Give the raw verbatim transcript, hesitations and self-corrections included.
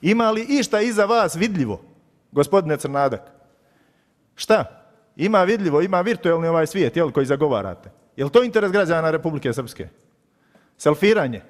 Ima li išta iza vas vidljivo, gospodine Crnadak? Šta? Ima vidljivo, ima virtualni ovaj svijet, jel, koji zagovarate. Je li to interes građana Republike Srpske? Selfiranje?